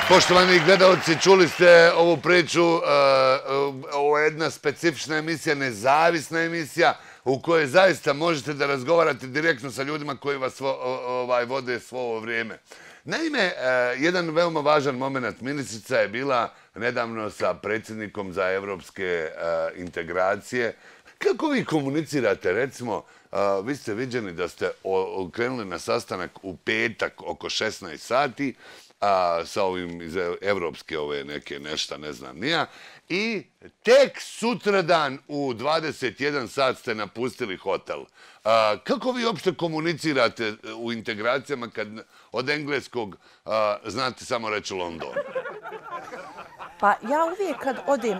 Poštovani gledalci, čuli ste ovu priču, ovo je jedna specifična emisija, nezavisna emisija u kojoj zaista možete da razgovarate direktno sa ljudima koji vas vode svo ovo vrijeme. Naime, jedan veoma važan moment, ministrica je bila nedavno sa predsjednikom za evropske integracije. Kako vi komunicirate, recimo, vi ste viđeni da ste krenuli na sastanak u petak oko 16 sati, sa ovim iz evropske ove neke nešta, ne znam nija, i tek sutradan u 21 sat ste napustili hotel. Kako vi uopšte komunicirate u integracijama kad od engleskog znate samo reći London? Pa ja uvijek kad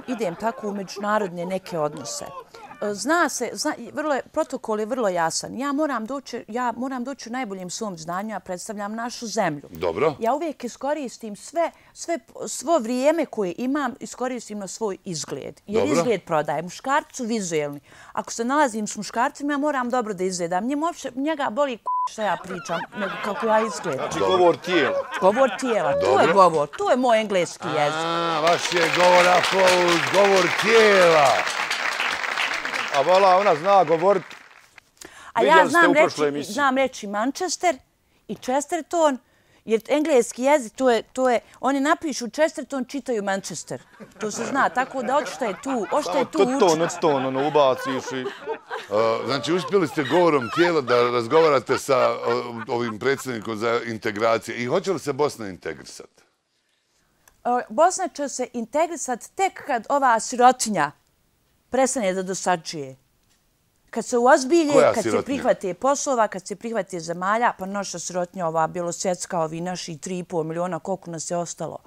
idem tako u međunarodne neke odnose, zna se, protokol je vrlo jasan. Ja moram doći u najboljem svom znanju, a predstavljam našu zemlju. Dobro. Ja uvijek iskoristim svo vrijeme koje imam, iskoristim na svoj izgled. Jer izgled prodaje. Muškarci su vizuelni. Ako se nalazim s muškarcima, ja moram dobro da izgledam. Njega boli šta ja pričam, nego kako ja izgledam. Znači govor tijela. Govor tijela, tu je govor. Tu je moj engleski jezik. Vaš je govor tijela. A vala, ona zna govorit. A ja znam reći Manchester i Chesterton, jer engleski jezik, oni napišu Chesterton, čitaju Manchester. To se zna, tako da očita je tu učiti. Ono ubaciš i... Znači, uspjeli ste govorom tijela da razgovarate sa ovim predsjednikom za integracije. I hoće li se Bosna integrisati? Bosna će se integrisati tek kad ova sirotinja prestane da dosađuje. Kad se uozbilje, kad se prihvate poslova, kad se prihvate zemalja, pa naša sirotinja, ova bjelosvjetska, ovi naši 3,5 miliona, koliko nas je ostalo.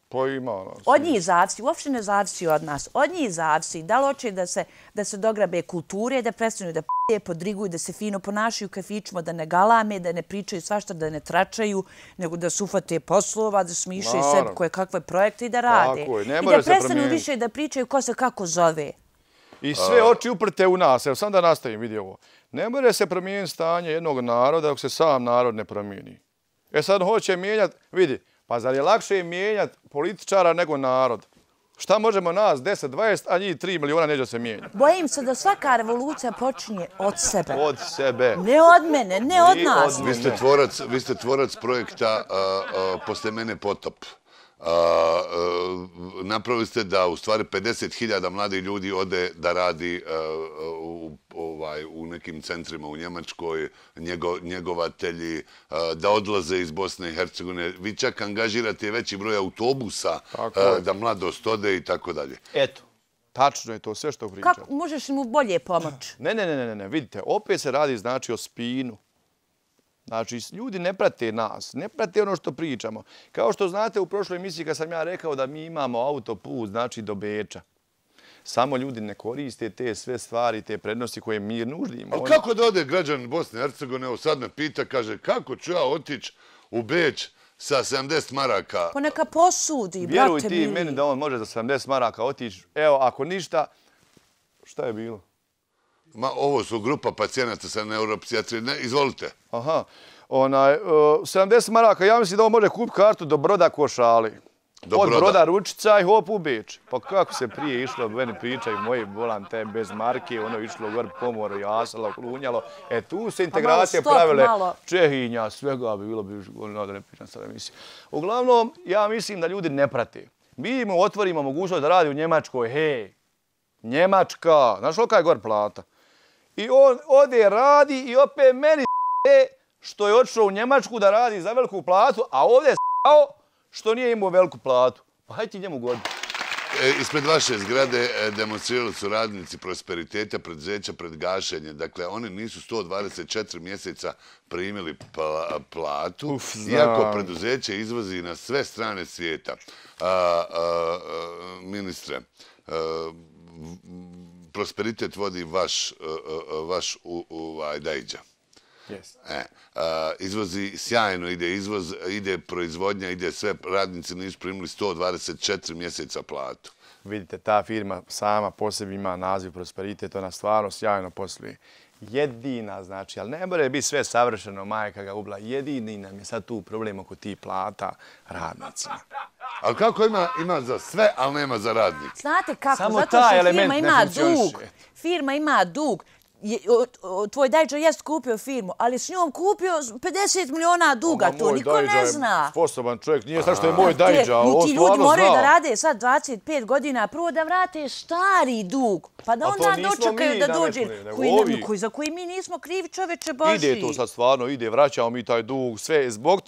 Pa ima. Od njih zavisi, uopšte ne zavisi od nas. Od njih zavisi da li hoće da se dograbe kulture, da prestanu da podriguju, da se fino ponašaju u kafićima, da ne galame, da ne pričaju svašta, da ne tračaju, nego da se ufate poslova, da smišljaju sebi koje kakve projekte i da rade. I da prestanu više da pričaju ko se kako zove. I sve oči uprte u nas. Evo, sam da nastavim, vidi ovo. Ne može se promijeniti stanje jednog naroda dok se sam narod ne promijeni. Sad hoće mijenjati, vidi, pa zar je lakše mijenjati političara nego narod? Šta možemo nas, 10, 20, a njih 3 miliona neće se mijenjati? Bojim se da svaka revolucija počinje od sebe. Od sebe. Ne od mene, ne od nas. Vi ste tvorac projekta Posle mene potop. Napravili ste da u stvari 50.000 mladih ljudi ode da radi u nekim centrima u Njemačkoj, njegovatelji, da odlaze iz Bosne i Hercegovine. Vi čak angažirate veći broj autobusa da mladost ode i tako dalje. Eto, tačno je to sve što pričam. Kako možeš mu bolje pomoći? Ne, vidite, opet se radi znači o spinu. Znači, ljudi ne prate nas, ne prate ono što pričamo. Kao što znate, u prošloj emisiji kad sam ja rekao da mi imamo autoput, znači do Beča. Samo ljudi ne koriste te sve stvari, te prednosti koje mi nuždimo. Ali kako da ode građan Bosne i Hercegovine, evo sad me pita, kaže, kako ću ja otići u Beč sa 70 maraka? Pa neka posudi, brate Vjeruj ti meni da on može za 70 maraka otići. Evo, ako ništa, šta je bilo? Ovo su grupa pacijenata sa neuropsijatrije. Izvolite. Aha. 70 maraka, ja mislim da on može kupiti kartu do Broda Košali. Od Broda Ručica i hop u Beč. Pa kako se prije išlo, meni pričaju moji, volam te bez marke, ono išlo gor pomoru, jasalo, klunjalo. Tu se integracije pravile Čehinja, svega bi bilo, da ne pričam sad emisiju. Uglavnom, ja mislim da ljudi ne prate. Mi mu otvorimo mogućnost da radi u Njemačkoj, hej, Njemačka, znaš li je gor plata? I on ode radi i opet meni što je otišao u Njemačku da radi za veliku platu, a ovdje što nije imao veliku platu. Pa hajde ti njemu godinu. Ispred vaše zgrade demonstrirali su radnici prosperiteta preduzeća pred gašenje. Dakle, oni nisu 124 mjeseca primili platu, iako preduzeće izvozi na sve strane svijeta. Ministre, prosperitet vodi vaš Dajđa. Izvozi sjajno, ide izvoz, ide proizvodnja, ide sve. Radnici nisu primili 124 mjeseca platu. Vidite, ta firma sama po sebi ima naziv Prosperitet, ona stvarno sjajno posluje. jedina, znači, ali ne more biti sve savršeno, majka ga ubila. Jedini nam je sad tu problem oko tih plata radnicima. Ali kako ima za sve, ali nema za radnike? Znate kako, samo zato taj što element firma ne ima funkcioniše. dug. Firma ima dug. Tvoj dajđa jest kupio firmu, ali s njom kupio 50 miliona duga, to niko ne zna. Sposoban čovjek, nije sad što je moj dajđa, on Ti ljudi moraju da rade sad 25 godina, prvo da vrate stari dug, pa da onda dočekaju da dođe, za koji mi nismo krivi, čoveče Božji. Ide to sad stvarno, vraćamo mi taj dug, sve, zbog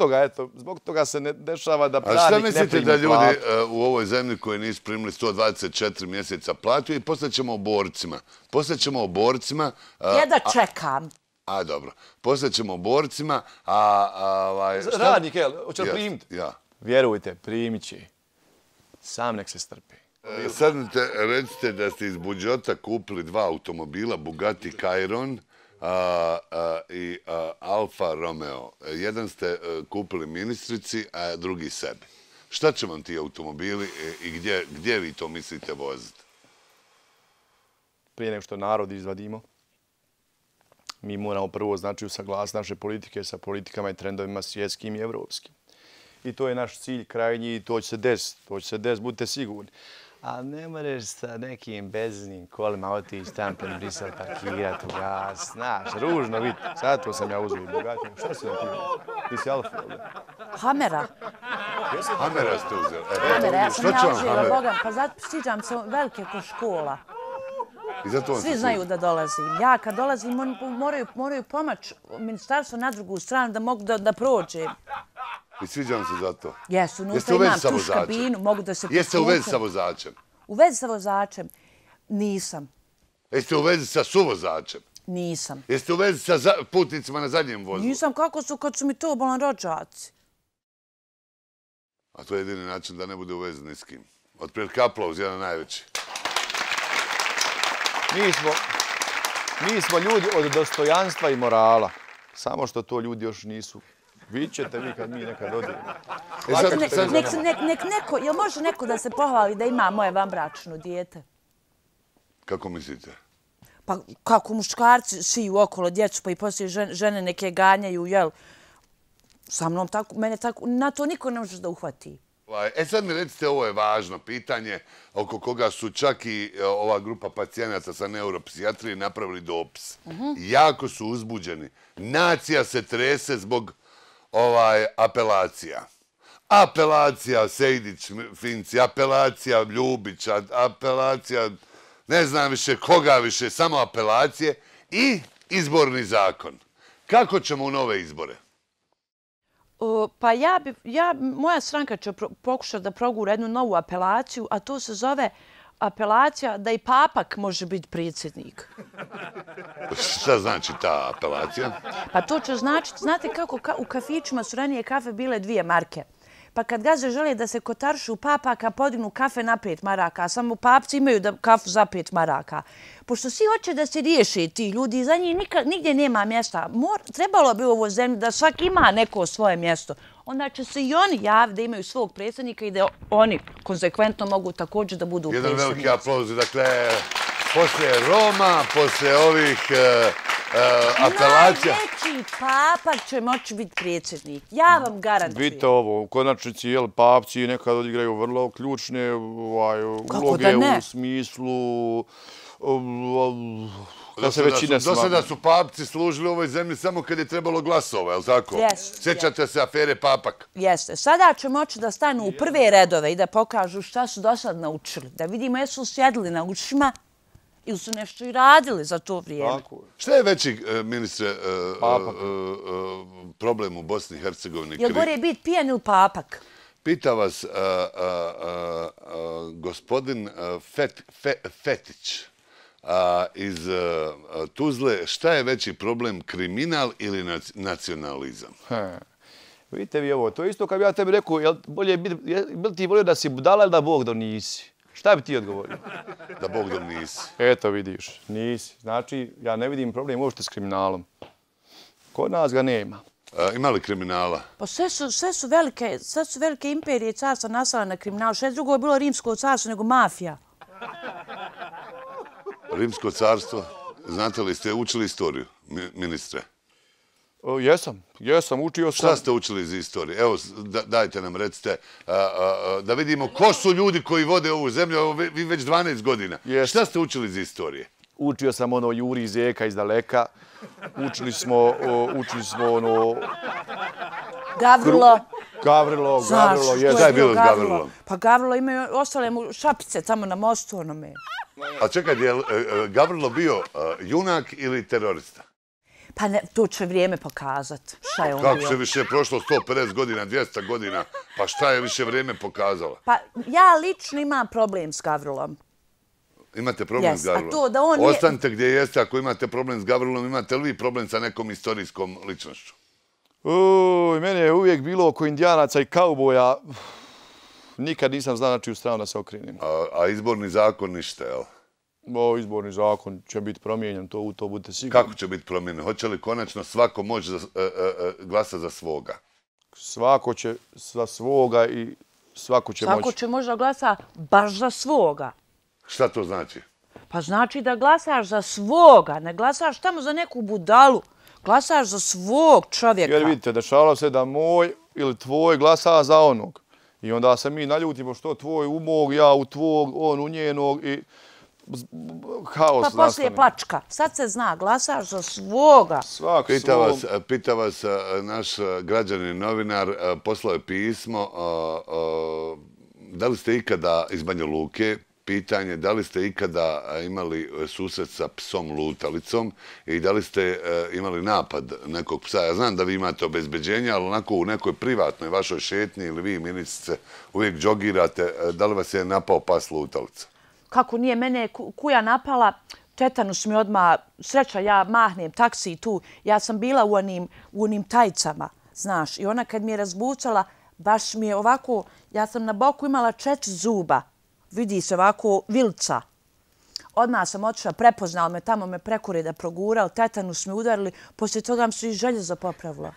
toga se ne dešava da radnik ne primi platu. A šta mislite da ljudi u ovoj zemlji koji nisu primili 124 mjeseca platu i poslaćemo o borcima, Jedva čekam. A, dobro. Poslaćemo borcima, radnik, hoće li primiti? Ja. Vjerujte, primit će. Sam nek se strpi. Sad recite da ste iz budžeta kupili 2 automobila, Bugatti Chiron i Alfa Romeo. Jedan ste kupili ministrici, a drugi sebi. Šta će vam ti automobili i gdje vi to mislite voziti? Prije nego što narod izvadimo, mi moramo prvo, znači, usaglasiti naše politike sa politikama i trendovima svjetskim i evropskim. I to je naš cilj krajnji i to će se desiti, budite sigurni. A ne možeš sa nekim beznim kolima otići tam pred Brisel parkirati u gas, znaš, ružno vidite. Sad to sam ja uzeo i bogatio. Šta si na ti? Ti si Alfa, ovdje? Hamera. Hamera ste uzeli? Hamera, ja sam ja užila, Boga, pa zato stiđam se velike ko škola. Svi znaju da dolazim. Ja kad dolazim moraju pomoć ministarstvo na drugu stranu da mogu da prođem. I sviđam se za to. Jesu, unutra imam tuš kabinu, mogu da se... Jeste u vezi sa vozačem? U vezi sa vozačem? Nisam. Jeste u vezi sa suvozačem? Nisam. Jeste u vezi sa putnicima na zadnjem vozu? Nisam, kako su kad su mi to bolan rođaci. A to je jedini način da ne bude u vezi ni s kim. Otprilike aplauz, jedan najveći. Mi smo ljudi od dostojanstva i morala. Samo što to ljudi još nisu. Vidjet ćete vi kad mi nekad odimo. Nek neko, jel može neko da se pohvali da ima moje vanbračno dijete? Kako mislite? Pa kako muškarci siju okolo djecu pa i poslije žene neke ganjaju, jel? Sa mnom tako, mene tako, na to niko ne može da uhvati. Sad mi recite, ovo je važno pitanje oko koga su čak i ova grupa pacijenata sa neuropsijatrije napravili dopis. Jako su uzbuđeni. Nacija se trese zbog apelacija. Apelacija Sejdić-Finci, apelacija Ljubića, apelacija ne znam više koga više, samo apelacije i izborni zakon. Kako ćemo u nove izbore? Pa moja stranka će pokušati da progura jednu novu apelaciju, a to se zove apelacija da i papak može biti predsjednik. Šta znači ta apelacija? Pa to će značiti, znate kako u kafićima su ranije kafe bile 2 marke. Pa kad gazde žele da se kotaršu papaka, podignu kafe na 5 maraka, a samo papci imaju kafu za 5 maraka. Pošto svi hoće da se riješe ti ljudi, za njih nigdje nema mjesta. Trebalo bi u ovoj zemlji da svak ima neko svoje mjesto. Onda će se i oni javiti da imaju svog predsjednika i da oni konsekventno mogu također da budu predsjednici. Jedan veliki aplauz. Dakle, poslije Roma, poslije ovih apelacija... Najveći papak će moći biti predsjednik. Ja vam garantujem. Vidite ovo, u konačnici papci nekad odigraju vrlo ključne uloge u smislu... Do sada su papci služili u ovoj zemlji samo kad je trebalo glasova, je li tako? Sjećate se afere papak? Jeste. Sada će moći da stanu u prve redove i da pokažu šta su do sad naučili. Da vidimo jesu sjedili na ušima ili su nešto i radili za to vrijeme. Šta je veći, ministre, problem u Bosni i Hercegovini? Je li gore biti pijan ili papak? Pita vas gospodin Fetić iz Tuzle, šta je veći problem, kriminal ili nacionalizam? Vidite vi ovo, to je isto kad bi ja tebi rekao, bil ti volio da si budala ili da Bog da nisi? Šta bi ti odgovorio? Da Bog da nisi. Eto vidiš, nisi. Znači, ja ne vidim problem uopšte s kriminalom. Kod nas ga nema. Ima li kriminala? Pa sve su velike imperije i carstva nastala na kriminalu. Što je drugo je bilo rimsko carstvo nego mafija. Rimsko carstvo? Znate li, ste učili istoriju, ministre? Jesam, učio sam. Šta ste učili iz istorije? Evo, dajte nam, recite, da vidimo ko su ljudi koji vode ovu zemlju, evo vi već 12 godina. Šta ste učili iz istorije? Učio sam ono Juri Zeka iz daleka. Učili smo ono... Gavrilo. Gavrilo, Šta je bilo s Gavrilom? Pa Gavrilo imaju ostale mu šapice tamo na mostu onome. A čekaj, je Gavrilo bio junak ili terorista? Pa to će vrijeme pokazati. Šta je on bio? Kako se više prošlo 150 godina, 200 godina, pa šta je više vrijeme pokazalo? Pa ja lično imam problem s Gavrilom. Imate problem s Gavrilom? Ostanite gdje jeste, ako imate problem s Gavrilom, imate li vi problem sa nekom istorijskom ličnošću? Mene je uvijek bilo oko indijanaca i kauboja. Nikad nisam znao na čiju stranu da se okrenem. A izborni zakon ništa, jel? Izborni zakon će biti promijenjen, to budete sigurni. Kako će biti promijenjen? Hoće li konačno svako moći glasa za svoga? Svako će za svoga i svako će moći. Svako će možda glasa baš za svoga. Šta to znači? Pa znači da glasaš za svoga, ne glasaš tamo za neku budalu. Glasaš za svog čovjeka. Jer vidite, dešavalo se da moj ili tvoj glasa za onog. I onda se mi naljutimo što tvoj u mog, ja u tvog, on u njenog i haos nastane. Pa poslije plačka. Sad se zna, glasaš za svoga. Pita vas naš građanin novinar, poslao je pismo, da li ste ikada iz Banja Luke, pitanje, da li ste ikada imali susret sa psom lutalicom i da li ste imali napad nekog psa? Ja znam da vi imate obezbeđenje, ali onako u nekoj privatnoj vašoj šetnji ili vi, ministrice, uvijek džogirate, da li vas je napao pas lutalica? Kako nije mene kuja napala, tetanus mi odmah, sreća, ja mahnem taksi tu, ja sam bila u onim tajcama, znaš, i ona kad mi je razbucala, baš mi je ovako, ja sam na boku imala 4 zuba, vidi se ovako vilca. Odmah sam otišla, prepoznala me, tamo me prekorida progurao, tetanus me udarili, poslije toga mi su i željezo popravila.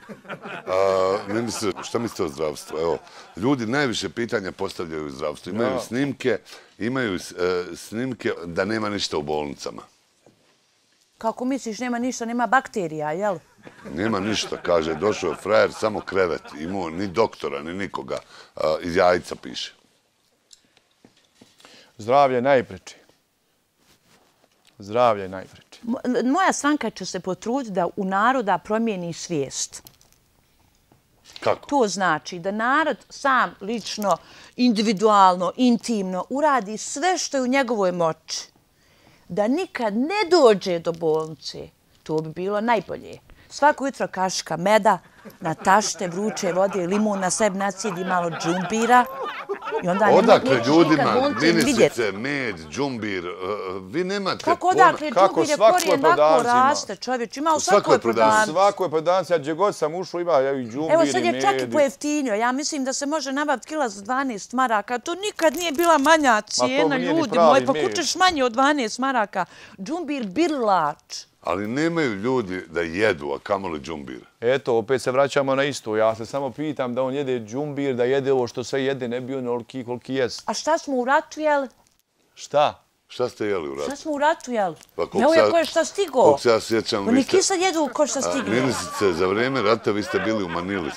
Ministre, šta mislite o zdravstvu? Evo, ljudi najviše pitanja postavljaju u zdravstvu. Imaju snimke da nema ništa u bolnicama. Kako misliš, nema ništa, nema bakterija, jel? Nema ništa, kaže, došao je frajer, samo krevet, imao ni doktora, ni nikoga, iz jajca piše. Zdravlje najpreči. Zdravlje najpreči. Moja stranka će se potruditi da u naroda promijeni svijest. Kako? To znači da narod sam lično, individualno, intimno uradi sve što je u njegovoj moći. Da nikad ne dođe do bolnice. To bi bilo najbolje. Svako jutro kaška meda, na tašte vruće vode, limun na sebi nacijedi malo džumbira. Odakle ljudima, ministrice, med, džumbir, vi nemate... Kako odakle džumbir je korijen lako raste, čovječ, ima u svakoj prodavnici. U svakoj prodavnici, a gdje god sam ušao ima i džumbir i med. Evo sad je čak i pojeftinio, ja mislim da se može nabaviti kila za 12 maraka, to nikad nije bila manja cijena, ljudi moji, pa kućeš manje od 12 maraka. Džumbir birlač. Ali nemaju ljudi da jedu, a kamoli džumbir. Eto, opet se vraćamo na isto. Ja se samo pitam da on jede džumbir, da jede ovo što sve jede, ne bi on oliki koliki jest. A šta smo u ratu jeli? Šta? Šta ste jeli u ratu? Šta smo u ratu jeli? Evo je ko je šta stigo. Koliko se ja sjećam, oni kisad jedu ko šta stigo. Ministrice, za vrijeme rata vi ste bili u Manili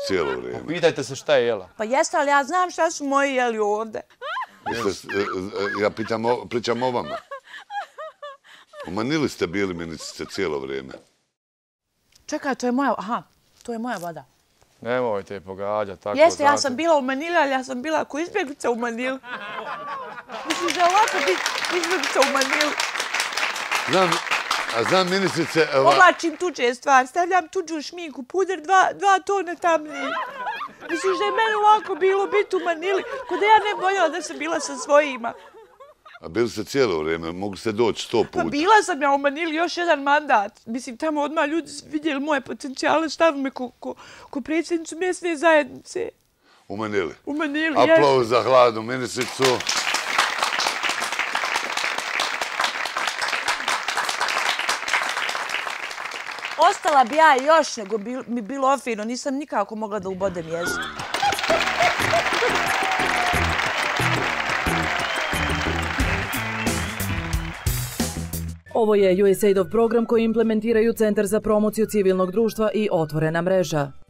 cijelo vrijeme. Pitajte se šta je jela. Pa jeste, ali ja znam šta su moji jeli ovdje. Ja pričam o vama. U Manili ste bili, ministrice, cijelo vrijeme. Čekaj, to je moja... Aha, to je moja voda. Nemojte je pogađati tako. Jeste, ja sam bila u Manili, ali ja sam bila ko izbjeglica u Manili. Misliš da ovako biti izbjeglica u Manili? Znam, ministrice... Oblačim tuđe stvari, stavljam tuđu šminku, puder, 2 tone tamnije. Misliš da je meni ovako bilo biti u Manili, ko da ja ne boljela da sam bila sa svojima. A bili ste cijelo vrijeme, mogu ste doći 100 puta. Pa bila sam ja u Manili još jedan mandat. Mislim, tamo odmah ljudi vidjeli moje potencijale, stavili me ko predsjednicu mjesne zajednice. U Manili? U Manili, jes. Aplauz za hladnu ministricu. Ostala bi ja još, nego mi bilo fino. Nisam nikako mogla da ubodem jezik. Ovo je USAID-ov program koji implementiraju Centar za promociju civilnog društva i Otvorena mreža.